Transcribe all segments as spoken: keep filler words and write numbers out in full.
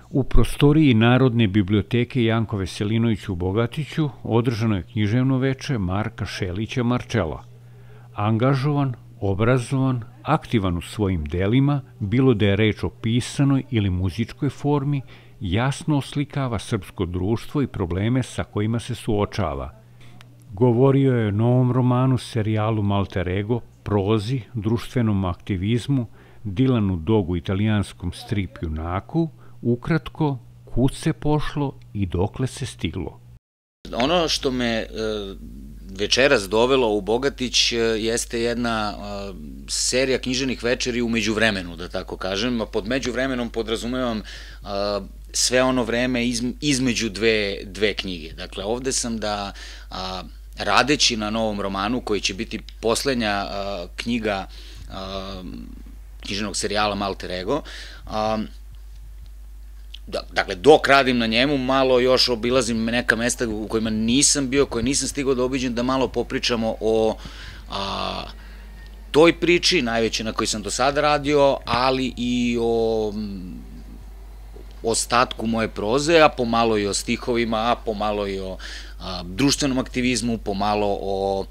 U prostoriji Narodne biblioteke Janko Veselinović u Bogatiću održano je književno veče Marka Šelića Marčela. Angažovan, obrazovan, aktivan u svojim delima, bilo da je reč o pisanoj ili muzičkoj formi, jasno oslikava srpsko društvo i probleme sa kojima se suočava. Govorio je o novom romanu, serijalu Malter Ego, prozi, društvenom aktivizmu, Dilanu Dogu, italijanskom strip junaku, ukratko, kud se pošlo i dokle se stiglo. Ono što me večeras dovelo u Bogatić jeste jedna serija književnih večeri u međuvremenu, da tako kažem, a pod međuvremenom podrazumevam sve ono vreme između dve knjige. Dakle, ovde sam da, radeći na novom romanu, koji će biti poslednja knjiga književnog serijala Malter Ego, dakle, dok radim na njemu, malo još obilazim neka mesta u kojima nisam bio, koje nisam stigao da obiđem, da malo popričamo o toj priči, najveće na kojoj sam do sada radio, ali i o ostatku moje proze, a pomalo i o stihovima, a pomalo i o društvenom aktivizmu, pomalo o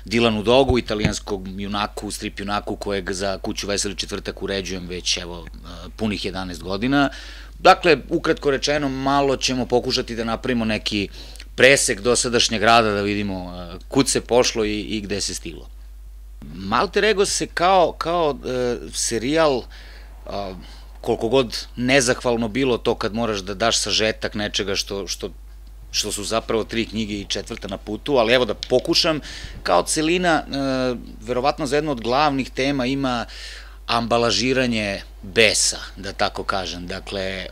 Dilanu Dogu, italijanskog junaku, strip junaku, kojeg za Kuću Veseli četvrtak uređujem već, evo, punih jedanaest godina. Dakle, ukratko rečeno, malo ćemo pokušati da napravimo neki presek dosadašnjeg rada, da vidimo kud se pošlo i gde se stiglo. Malter Ego se kao serijal, koliko god nezahvalno bilo to kad moraš da daš sažetak nečega što su zapravo tri knjige i četvrta na putu, ali evo da pokušam, kao celina, verovatno za jednu od glavnih tema ima ambalažiranje besa, da tako kažem. Dakle,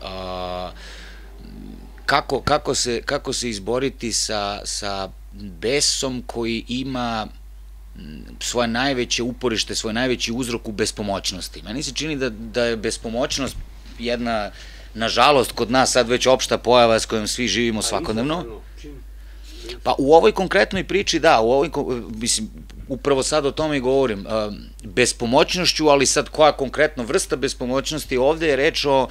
kako se izboriti sa besom koji ima svoje najveće uporište, svoj najveći uzrok u bespomoćnosti. Meni se čini da je bespomoćnost jedna, nažalost, kod nas sad već opšta pojava s kojom svi živimo svakodnevno. Pa u ovoj konkretnoj priči, da, u ovoj, mislim, upravo sad o tome i govorim, bespomoćnošću, ali sad koja konkretno vrsta bespomoćnosti, ovde je reč o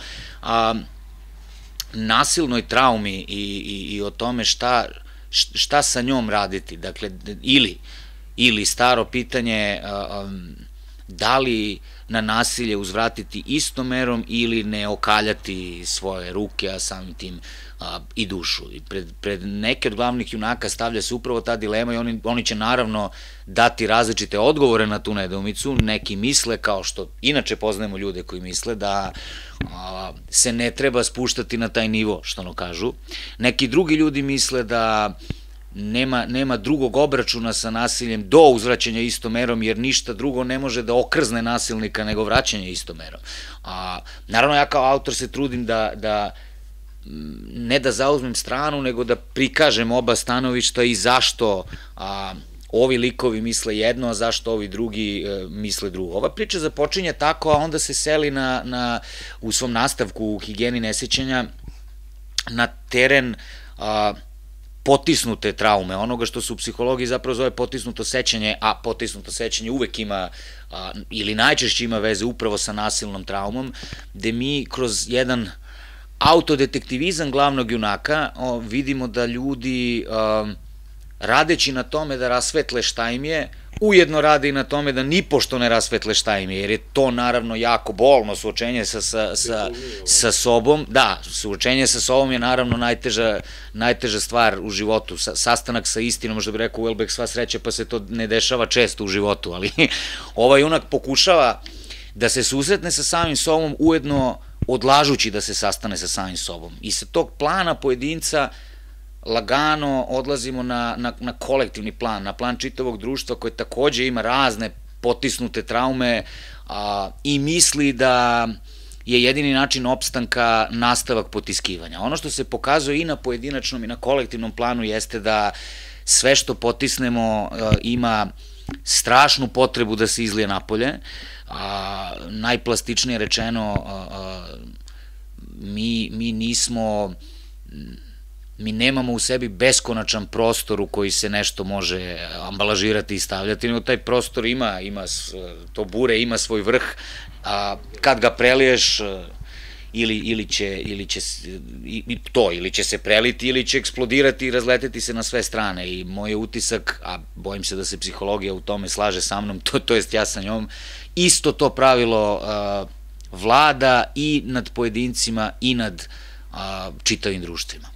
nasilnoj traumi i o tome šta sa njom raditi, dakle, ili, ili staro pitanje da li na nasilje uzvratiti istom merom ili ne okaljati svoje ruke, a samim tim i dušu. Pred neke od glavnih junaka stavlja se upravo ta dilema i oni će naravno dati različite odgovore na tu nedoumicu. Neki misle, kao što inače poznajemo ljude koji misle, da se ne treba spuštati na taj nivo, što ono kažu. Neki drugi ljudi misle da nema drugog obračuna sa nasiljem do uzvraćanja istom merom, jer ništa drugo ne može da okrzne nasilnika nego vraćanje istom merom. Naravno, ja kao autor se trudim da ne da zauzmem stranu, nego da prikažem oba stanovišta i zašto ovi likovi misle jedno, a zašto ovi drugi misle drugo. Ova priča započinje tako, a onda se seli u svom nastavku u Higijeni nesećanja na teren potisnute traume, onoga što se u psihologiji zapravo zove potisnuto sećanje, a potisnuto sećanje uvek ima, ili najčešće ima veze upravo sa nasilnom traumom, gde mi kroz jedan autodetektivizam glavnog junaka vidimo da ljudi, radeći na tome da rasvetle šta im je, ujedno rade i na tome da nipošto ne rasvetle šta im je, jer je to naravno jako bolno suočenje sa sobom. Da, suočenje sa sobom je naravno najteža stvar u životu. Sastanak sa istinom, možda bi rekao Welbeck, sva sreća, pa se to ne dešava često u životu, ali ovaj junak pokušava da se susretne sa samim sobom, ujedno odlažući da se sastane sa samim sobom. I sa tog plana pojedinca lagano odlazimo na kolektivni plan, na plan čitavog društva koje takođe ima razne potisnute traume i misli da je jedini način opstanka nastavak potiskivanja. Ono što se pokazuje i na pojedinačnom i na kolektivnom planu jeste da sve što potisnemo ima strašnu potrebu da se izlije napolje. Najplastičnije rečeno, mi nismo mi nemamo u sebi beskonačan prostor u koji se nešto može ambalažirati i stavljati, nego taj prostor ima, ima, to bure ima svoj vrh, a kad ga preliješ, ili, ili će, ili će, i to, ili će se preliti, ili će eksplodirati i razleteti se na sve strane. I moj utisak, a bojim se da se psihologija u tome slaže sa mnom, to, to jest ja sa njom, isto to pravilo uh, vlada i nad pojedincima i nad uh, čitavim društvima.